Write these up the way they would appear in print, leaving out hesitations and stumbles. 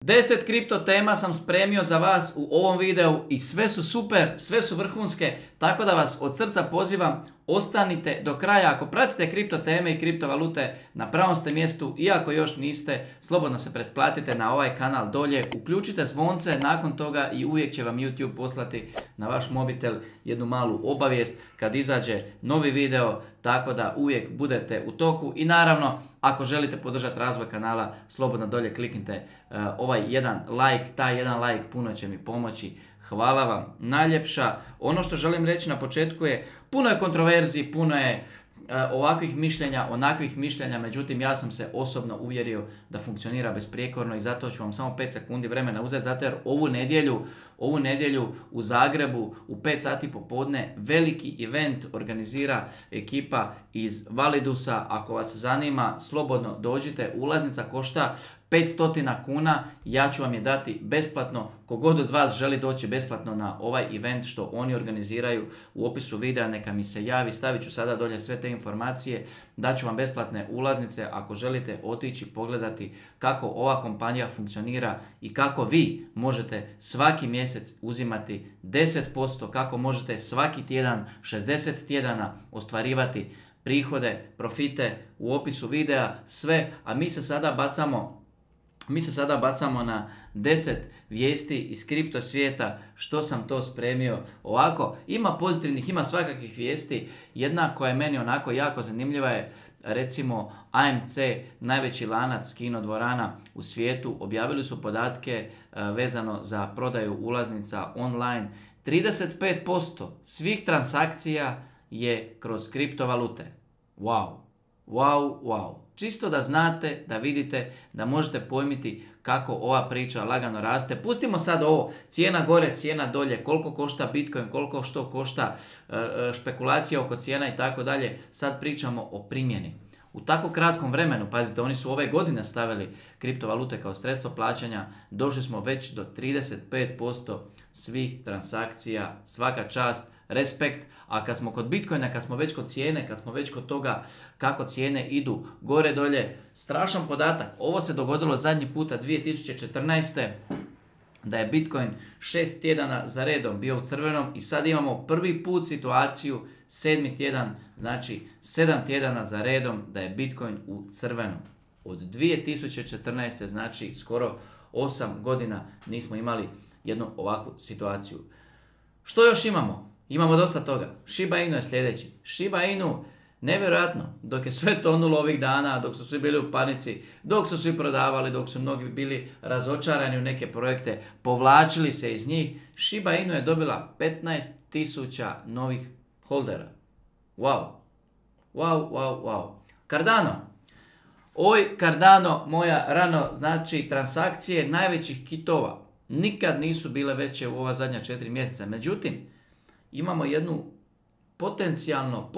10 kripto tema sam spremio za vas u ovom videu i sve su super, sve su vrhunske, tako da vas od srca pozivam, ostanite do kraja. Ako pratite kripto teme i kriptovalute, na pravom ste mjestu, iako još niste, slobodno se pretplatite na ovaj kanal dolje, uključite zvonce, nakon toga i uvijek će vam YouTube poslati na vaš mobitel jednu malu obavijest kad izađe novi video, tako da uvijek budete u toku. I naravno, ako želite podržati razvoj kanala, slobodno dolje kliknite ovaj jedan like, taj jedan like puno će mi pomoći. Hvala vam najljepša. Ono što želim reći na početku je, puno je kontroverziji, puno je ovakvih mišljenja, onakvih mišljenja, međutim ja sam se osobno uvjerio da funkcionira besprijekorno i zato ću vam samo 5 sekundi vremena uzeti, zato jer ovu nedjelju u Zagrebu u 5 sati popodne veliki event organizira ekipa iz Validusa. Ako vas zanima, slobodno dođite, ulaznica košta 500 kuna, ja ću vam je dati besplatno. Kogod od vas želi doći besplatno na ovaj event što oni organiziraju, u opisu videa neka mi se javi, stavit ću sada dolje sve te informacije, daću vam besplatne ulaznice ako želite otići pogledati kako ova kompanija funkcionira i kako vi možete svaki mjesec uzimati 10%, kako možete svaki tjedan, 60 tjedana ostvarivati prihode, profite, u opisu videa sve, a mi se sada bacamo na 10 vijesti iz kripto svijeta, što sam to spremio. Ovako, ima pozitivnih, ima svakakvih vijesti. Jedna koja je meni onako jako zanimljiva je, recimo, AMC, najveći lanac kino dvorana u svijetu, objavili su podatke vezano za prodaju ulaznica online. 35% svih transakcija je kroz kriptovalute. Wow, wow, wow. Čisto da znate, da vidite, da možete pojmiti kako ova priča lagano raste. Pustimo sad ovo, cijena gore, cijena dolje, koliko košta Bitcoin, koliko što košta, špekulacija oko cijena i tako dalje. Sad pričamo o primjeni. U tako kratkom vremenu, pazite, oni su ove godine stavili kriptovalute kao sredstvo plaćanja, došli smo već do 35% svih transakcija, svaka čast, respekt. A kad smo kod Bitcoina, kad smo već kod cijene, kad smo već kod toga kako cijene idu gore dolje, strašan podatak. Ovo se dogodilo zadnji puta 2014. da je Bitcoin 6 tjedana za redom bio u crvenom i sad imamo prvi put situaciju 7. tjedan, znači 7 tjedana za redom da je Bitcoin u crvenom. Od 2014. znači skoro 8 godina nismo imali jednu ovakvu situaciju. Što još imamo? Imamo dosta toga. Shiba Inu je sljedeći. Shiba Inu, nevjerojatno, dok je sve tonulo ovih dana, dok su svi bili u panici, dok su svi prodavali, dok su mnogi bili razočarani u neke projekte, povlačili se iz njih, Shiba Inu je dobila 15.000 novih holdera. Wow. Wow, wow, wow. Cardano. Oj, Cardano, moja rano, znači transakcije najvećih kitova. Nikad nisu bile veće u ova zadnja 4 mjeseca. Međutim, imamo jednu potencijalno,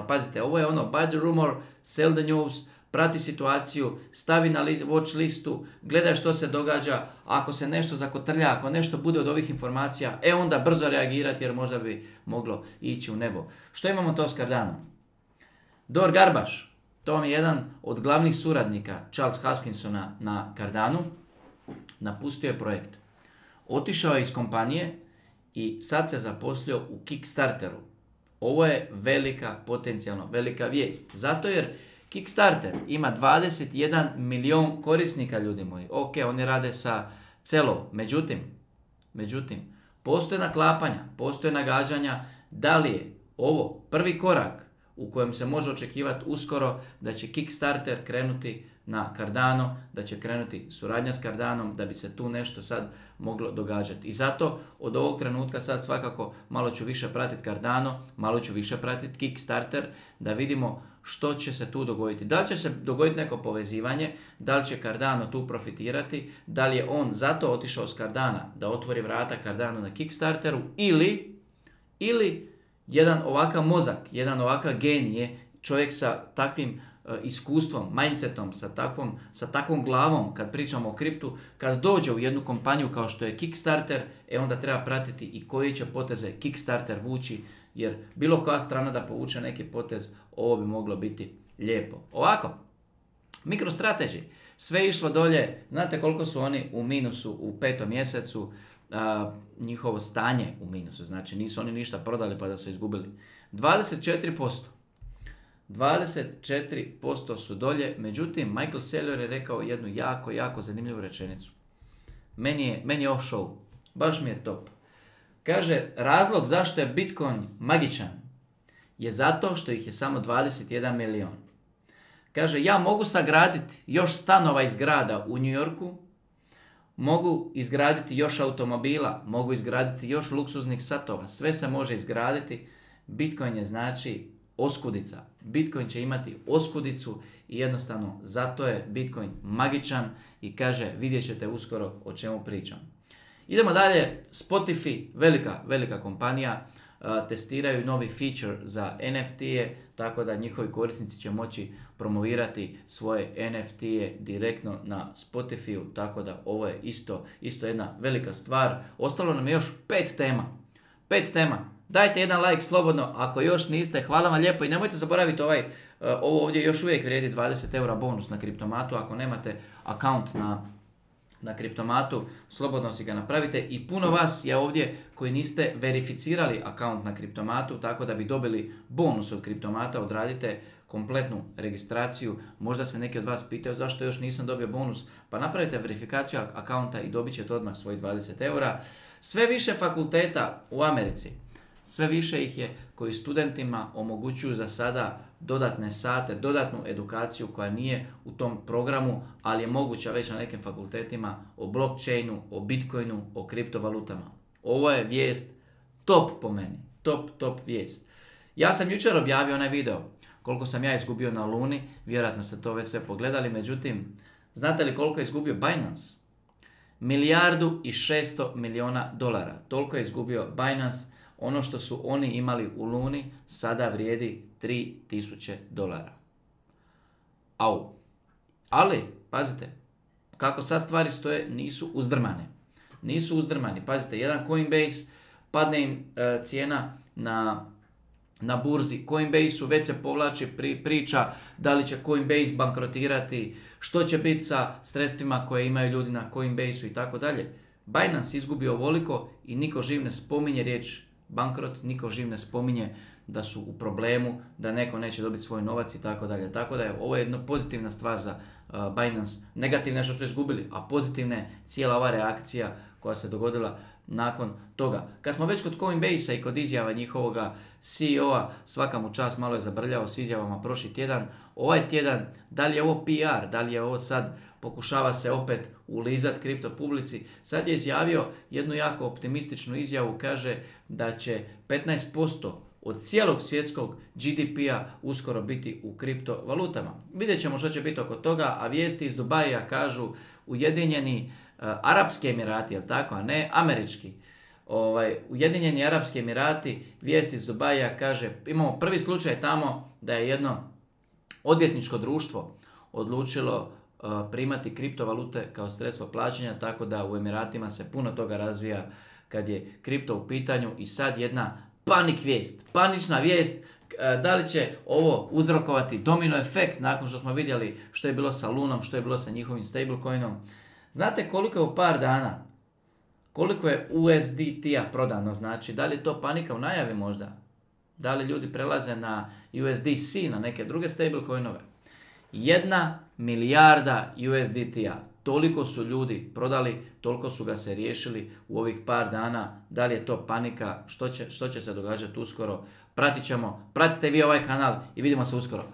pazite, ovo je ono buy the rumor, sell the news, prati situaciju, stavi na watch listu, gledaj što se događa, ako se nešto zakotrlja, ako nešto bude od ovih informacija, onda brzo reagirati jer možda bi moglo ići u nebo. Što imamo to s Cardanom? Dor Garbaš, to vam je jedan od glavnih suradnika Charles Hoskinsona na Cardanu, napustio je projekt. Otišao je iz kompanije i sad se zaposlio u Kickstarteru. Ovo je potencijalno velika vijest. Zato jer Kickstarter ima 21 milion korisnika, ljudi moji. Ok, oni rade sa celo. Međutim, postoje naklapanja, postoje nagađanja da li je ovo prvi korak u kojem se može očekivati uskoro da će Kickstarter krenuti na Cardano, da će krenuti suradnja s Cardanom, da bi se tu nešto sad moglo događati. I zato od ovog trenutka sad svakako malo ću više pratiti Cardano, malo ću više pratiti Kickstarter, da vidimo što će se tu dogoditi. Da li će se dogoditi neko povezivanje, da li će Cardano tu profitirati, da li je on zato otišao s Cardana da otvori vrata Cardano na Kickstarteru ili jedan ovakav mozak, jedan ovakav genije, čovjek sa takvim iskustvom, mindsetom, sa takvom glavom, kad pričamo o kriptu, kad dođe u jednu kompaniju kao što je Kickstarter, onda treba pratiti i koji će poteze Kickstarter vući, jer bilo koja strana da povuče neki potez, ovo bi moglo biti lijepo. Ovako, MicroStrategy. sve išlo dolje. Znate koliko su oni u minusu u 5. mjesecu, njihovo stanje u minusu, znači nisu oni ništa prodali pa da su izgubili. 24%. 24% su dolje, međutim Michael Saylor je rekao jednu jako, jako zanimljivu rečenicu. Meni je off show, baš mi je top. Kaže, razlog zašto je Bitcoin magičan je zato što ih je samo 21 milion. Kaže, ja mogu sagraditi još stanova i zgrada u New Yorku, mogu izgraditi još automobila, mogu izgraditi još luksuznih satova, sve se može izgraditi. Bitcoin je znači oskudica. Bitcoin će imati oskudicu i jednostavno zato je Bitcoin magičan i kaže, vidjet ćete uskoro o čemu pričam. Idemo dalje, Spotify, velika kompanija, testiraju novi feature za NFT-e, tako da njihovi korisnici će moći promovirati svoje NFT-e direktno na Spotify-u, tako da ovo je isto jedna velika stvar. Ostalo nam je još 5 tema. 5 tema. Dajte jedan like slobodno, ako još niste, hvala vam lijepo i nemojte zaboraviti ovo ovdje još uvijek vrijedi 20 eura bonus na Kriptomatu, ako nemate account na Kriptomatu, slobodno si ga napravite i puno vas je ovdje koji niste verificirali account na Kriptomatu, tako da bi dobili bonus od Kriptomata, odradite kompletnu registraciju. Možda se neki od vas pitaju zašto još nisam dobio bonus, pa napravite verifikaciju accounta i dobit ćete odmah svojih 20 eura. Sve više fakulteta u Americi, sve više ih je koji studentima omogućuju za sada dodatne sate, dodatnu edukaciju koja nije u tom programu, ali je moguća već na nekim fakultetima o blockchainu, o bitcoinu, o kriptovalutama. Ovo je vijest top po meni, top vijest. Ja sam jučer objavio onaj video koliko sam ja izgubio na Luni, vjerojatno ste to već sve pogledali, međutim, znate li koliko je izgubio Binance? 1,6 milijardi dolara, toliko je izgubio Binance. Ono što su oni imali u Luni sada vrijedi $3,000. Au. Ali, pazite, kako sad stvari stoje, nisu uzdrmani. Pazite, jedan Coinbase, padne im cijena na burzi. Coinbase-u već se povlači priča da li će Coinbase bankrotirati, što će biti sa sredstvima koje imaju ljudi na Coinbase-u i tako dalje. Binance izgubio ovoliko i niko živ ne spominje riječ bankrot, niko živ ne spominje da su u problemu, da neko neće dobiti svoj novac i tako dalje. Tako da je ovo jedna pozitivna stvar za Binance. Negativna je što su izgubili, a pozitivna je cijela ova reakcija koja se dogodila nakon toga. Kad smo već kod Coinbase-a i kod izjava njihovoga CEO-a, svaka mu čast, malo je zabrljao s izjavama prošli tjedan. Ovaj tjedan, da li je ovo PR, da li je ovo sad pokušava se opet ulizati kripto publici, sad je izjavio jednu jako optimističnu izjavu, kaže da će 15% od cijelog svjetskog GDP-a uskoro biti u kriptovalutama. Vidjet ćemo što će biti oko toga, a vijesti iz Dubaija kažu Ujedinjeni Arapski Emirati, jel tako, a ne američki. Ujedinjeni Arapski Emirati, vijesti iz Dubaija kaže, imamo prvi slučaj tamo da je jedno odvjetničko društvo odlučilo primati kriptovalute kao sredstvo plaćanja, tako da u Emiratima se puno toga razvija kad je kripto u pitanju i sad jedna panična vijest, da li će ovo uzrokovati domino efekt nakon što smo vidjeli što je bilo sa Lunom, što je bilo sa njihovim stablecoinom. Znate koliko je u par dana, koliko je USDT-a prodano, znači da li je to panika u najavi možda? Da li ljudi prelaze na USDC, na neke druge stablecoinove? 1 milijarda USDT-a. Toliko su ljudi prodali, toliko su ga se riješili u ovih par dana. Da li je to panika? Što će se događati uskoro? Pratit ćemo. Pratite vi ovaj kanal i vidimo se uskoro.